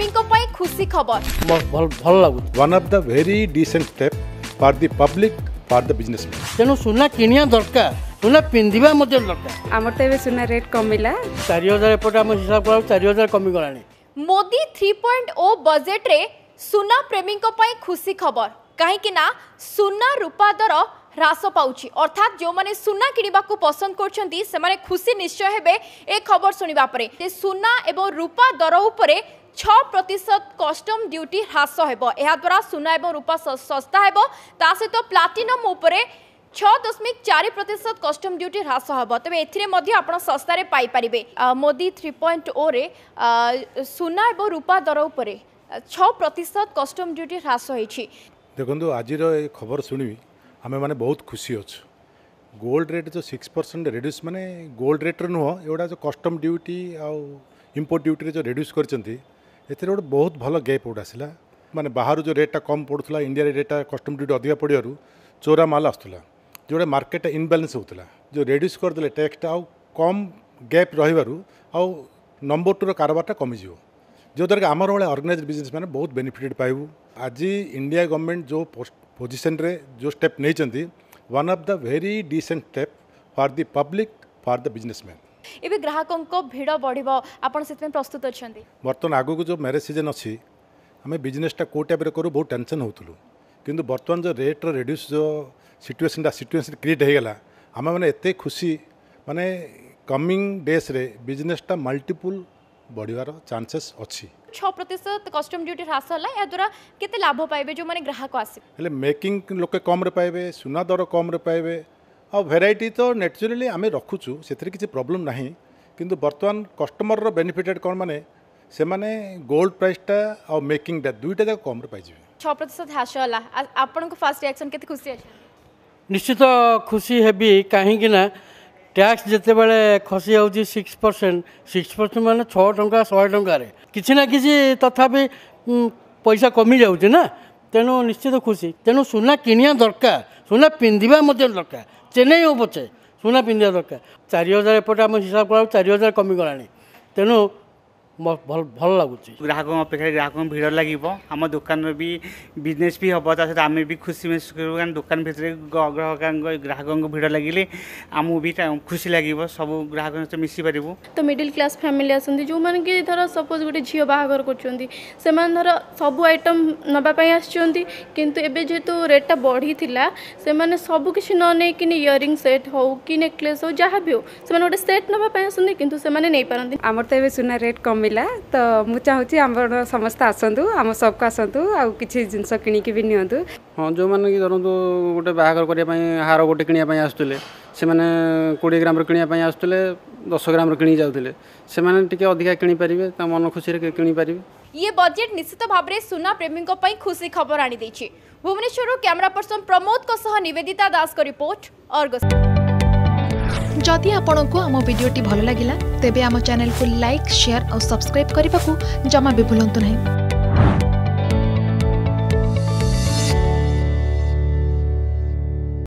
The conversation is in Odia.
ପ୍ରେମୀଙ୍କ ପାଇଁ ଖୁସି ଖବର। ଭଲ ଲାଗୁଛି। One of the very decent step for the public, for the businessman. ତେଣୁ ସୁନା କିଣିବା ଦରକାର, ସୁନା ପିନ୍ଧିବା ମଧ୍ୟ ଦରକାର। ଆମର ତ ଏବେ ସୁନା ରେଟ୍ କମିଲା। 4000 ଏପଟେ ଆମ ହିସାବ କଲା, 4000 କମିଗଲାଣି। ମୋଦି 3.0 ବଜେଟ୍ରେ ସୁନା ପ୍ରେମୀଙ୍କ ପାଇଁ ଖୁସି ଖବର, କାହିଁକି ନା ସୁନା ରୂପା ଦର ହ୍ରାସ ପାଉଛି। ଅର୍ଥାତ୍ ଯେଉଁମାନେ ସୁନା କିଣିବାକୁ ପସନ୍ଦ କରୁଛନ୍ତି, ସେମାନେ ଖୁସି ନିଶ୍ଚୟ ହେବେ ଏ ଖବର ଶୁଣିବା ପରେ ଯେ ସୁନା ଏବଂ ରୂପା ଦର ଉପରେ 6% କଷ୍ଟମ ଡ୍ୟୁଟି ହ୍ରାସ ହେବ। ଏହାଦ୍ୱାରା ସୁନା ଏବଂ ରୂପା ଶସ୍ତା ହେବ। ତା ସହିତ ପ୍ଲାଟିନମ୍ ଉପରେ 6.4% କଷ୍ଟମ ଡ୍ୟୁଟି ହ୍ରାସ ହେବ। ତେବେ ଏଥିରେ ମଧ୍ୟ ଆପଣ ଶସ୍ତାରେ ପାଇପାରିବେ। ମୋଦି 3.0ରେ ସୁନା ଏବଂ ରୂପା ଦର ଉପରେ 6% କଷ୍ଟମ ଡ୍ୟୁଟି ହ୍ରାସ ହୋଇଛି। ଦେଖନ୍ତୁ, ଆଜିର ଏ ଖବର ଶୁଣିବି ଆମେମାନେ ବହୁତ ଖୁସି ଅଛୁ। ଗୋଲ୍ଡ ରେଟ୍ ଯେଉଁ 6% ରେଡ୍ୟୁସ୍, ମାନେ ଗୋଲ୍ଡ ରେଟ୍ରେ ନୁହଁ, ଏଗୁଡ଼ା ଯେଉଁ କଷ୍ଟମ ଡ୍ୟୁଟି ଆଉ ଇମ୍ପୋର୍ଟ ଡ୍ୟୁଟିରେ ଯେଉଁ ରେଡ୍ୟୁସ୍ କରିଛନ୍ତି, ଏଥିରେ ଗୋଟେ ବହୁତ ଭଲ ଗ୍ୟାପ୍ ଗୋଟେ ଆସିଲା। ମାନେ ବାହାରୁ ଯେଉଁ ରେଟ୍ଟା କମ୍ ପଡ଼ୁଥିଲା, ଇଣ୍ଡିଆରେ ରେଟ୍ଟା କଷ୍ଟମ ଡ୍ୟୁଟି ଅଧିକା ପଡ଼ିବାରୁ ଚୋରା ମାଲ ଆସୁଥିଲା, ଯେଉଁଟା ମାର୍କେଟଟା ଇନବାଲାନ୍ସ ହେଉଥିଲା। ଯେଉଁ ରେଡ୍ୟୁସ୍ କରିଦେଲେ ଟ୍ୟାକ୍ସଟା ଆଉ କମ୍ ଗ୍ୟାପ୍ ରହିବାରୁ ଆଉ ନମ୍ବର ଟୁର କାରବାରଟା କମିଯିବ, ଯେଉଁଦ୍ୱାରା କି ଆମର ଭଳିଆ ଅର୍ଗାନାଇଜ୍ ବିଜନେସ୍ ମାନେ ବହୁତ ବେନିଫିଟେଡ଼ ପାଇବୁ। ଆଜି ଇଣ୍ଡିଆ ଗଭର୍ଣ୍ଣମେଣ୍ଟ ଯେଉଁ ପୋଜିସନ୍ରେ ଯେଉଁ ଷ୍ଟେପ୍ ନେଇଛନ୍ତି, one of the very decent step for the public, for the businessman. ଏବେ ଗ୍ରାହକଙ୍କ ଭିଡ଼ ବଢ଼ିବ, ଆପଣ ସେଥିପାଇଁ ପ୍ରସ୍ତୁତ ଅଛନ୍ତି? ବର୍ତ୍ତମାନ ଆଗକୁ ଯେଉଁ ମ୍ୟାରେଜ୍ ସିଜନ୍ ଅଛି, ଆମେ ବିଜନେସ୍ଟା କେଉଁ ଟାଇପ୍ରେ କରୁ ବହୁତ ଟେନସନ୍ ହେଉଥିଲୁ। କିନ୍ତୁ ବର୍ତ୍ତମାନ ଯେଉଁ ରେଟ୍ର ରେଡ୍ୟୁସ୍ ଯେଉଁ ସିଚୁଏସନ୍ କ୍ରିଏଟ୍ ହେଇଗଲା, ଆମେମାନେ ଏତେ ଖୁସି, ମାନେ କମିଂ ଡେଜ୍ରେ ବିଜନେସ୍ଟା ମଲ୍ଟିପୁଲ୍ ବଢ଼ିବାର ଚାନ୍ସେସ୍ ଅଛି। 6% କଷ୍ଟମ ଡ୍ୟୁଟି ହ୍ରାସ ହେଲା, ଏହାଦ୍ୱାରା କେତେ ଲାଭ ପାଇବେ ଯେଉଁମାନେ ଗ୍ରାହକ ଆସିବେ? ହେଲେ ମେକିଂ ଲୋକେ କମ୍ରେ ପାଇବେ, ସୁନା ଦର କମ୍ରେ ପାଇବେ, ଆଉ ଭେରାଇଟି ତ ନ୍ୟାଚୁରାଲି ଆମେ ରଖୁଛୁ, ସେଥିରେ କିଛି ପ୍ରୋବ୍ଲେମ୍ ନାହିଁ। କିନ୍ତୁ ବର୍ତ୍ତମାନ କଷ୍ଟମରର ବେନିଫିଟେଡ଼ କ'ଣ, ମାନେ ସେମାନେ ଗୋଲ୍ଡ ପ୍ରାଇସ୍ଟା ଆଉ ମେକିଂଟା ଦୁଇଟା ଯାକ କମ୍ରେ ପାଇଯିବେ। 6% ହ୍ରାସ ହେଲା, ଆପଣଙ୍କ ଫାର୍ଷ୍ଟ ରିଆକ୍ସନ୍, କେତେ ଖୁସି ଅଛନ୍ତି? ନିଶ୍ଚିତ ଖୁସି ହେବି, କାହିଁକି ନା ଟ୍ୟାକ୍ସ ଯେତେବେଳେ ଖସି ଯାଉଛି 6%, 6% ମାନେ 6 ଟଙ୍କା 100 ଟଙ୍କାରେ କିଛି ନା କିଛି ତଥାପି ପଇସା କମିଯାଉଛି ନା। ତେଣୁ ନିଶ୍ଚିତ ଖୁସି। ତେଣୁ ସୁନା କିଣିବା ଦରକାର, ସୁନା ପିନ୍ଧିବା ମଧ୍ୟ ଦରକାର। ଚେନ୍ନାଇ ହଉ ପଛେ ସୁନା ପିନ୍ଧିବା ଦରକାର। 4000 ଏପଟେ ଆମ ହିସାବ କଲା, 4000 କମିଗଲାଣି। ତେଣୁ ଭଲ ଲାଗୁଛି। ଗ୍ରାହକଙ୍କ ଅପେକ୍ଷାରେ ଗ୍ରାହକଙ୍କ ଭିଡ଼ ଲାଗିବ, ଆମ ଦୋକାନର ବି ବିଜନେସ୍ ବି ହେବ, ତା ସହିତ ଆମେ ବି ଖୁସି ମେହସୁସ କରିବୁ। କାରଣ ଦୋକାନ ଭିତରେ ଗ୍ରାହକଙ୍କ ଭିଡ଼ ଲାଗିଲେ ଆମକୁ ବି ଖୁସି ଲାଗିବ, ସବୁ ଗ୍ରାହକଙ୍କ ସହିତ ମିଶିପାରିବୁ। ତ ମିଡ଼ିଲ୍ କ୍ଲାସ୍ ଫ୍ୟାମିଲି ଆସନ୍ତି, ଯେଉଁମାନେ କି ଧର ସପୋଜ୍ ଗୋଟେ ଝିଅ ବାହାଘର କରୁଛନ୍ତି, ସେମାନେ ଧର ସବୁ ଆଇଟମ୍ ନେବା ପାଇଁ ଆସିଛନ୍ତି। କିନ୍ତୁ ଏବେ ଯେହେତୁ ରେଟ୍ଟା ବଢ଼ିଥିଲା, ସେମାନେ ସବୁ କିଛି ନ ନେଇକିନି ଇୟରିଂ ସେଟ୍ ହଉ କି ନେକଲେସ୍ ହଉ, ଯାହା ବି ହଉ, ସେମାନେ ଗୋଟେ ସେଟ୍ ନେବା ପାଇଁ ଆସନ୍ତି, କିନ୍ତୁ ସେମାନେ ନେଇପାରନ୍ତି। ଆମର ତ ଏବେ ସୁନା ରେଟ୍ କମିଲା, ତ ମୁଁ ଚାହୁଁଛି ଆମର ସମସ୍ତେ ଆସନ୍ତୁ, ଆମ ସପ୍କୁ ଆସନ୍ତୁ ଆଉ କିଛି ଜିନିଷ କିଣିକି ବି ନିଅନ୍ତୁ। ହଁ, ଯେଉଁମାନେ କି ଧରନ୍ତୁ ଗୋଟେ ବାହାଘର କରିବା ପାଇଁ ହାର ଗୋଟେ କିଣିବା ପାଇଁ ଆସୁଥିଲେ, ସେମାନେ 20 ଗ୍ରାମର କିଣିବା ପାଇଁ ଆସୁଥିଲେ, 10 ଗ୍ରାମର କିଣିକି ଯାଉଥିଲେ, ସେମାନେ ଟିକେ ଅଧିକା କିଣିପାରିବେ, ତା ମନ ଖୁସିରେ କିଣିପାରିବେ। ଇଏ ବଜେଟ୍ ନିଶ୍ଚିତ ଭାବରେ ସୁନା ପ୍ରେମୀଙ୍କ ପାଇଁ ଖୁସି ଖବର ଆଣିଦେଇଛି। ଭୁବନେଶ୍ୱରରୁ କ୍ୟାମେରା ପର୍ସନ ପ୍ରମୋଦଙ୍କ ସହ ନିବେଦିତା ଦାସଙ୍କ ରିପୋର୍ଟ, ଅର୍ଗସ୍। ଯଦି ଆପଣଙ୍କୁ ଆମ ଭିଡ଼ିଓଟି ଭଲ ଲାଗିଲା, ତେବେ ଆମ ଚ୍ୟାନେଲକୁ ଲାଇକ୍, ସେୟାର ଆଉ ସବସ୍କ୍ରାଇବ୍ କରିବାକୁ ଜମା ବି ଭୁଲନ୍ତୁ ନାହିଁ।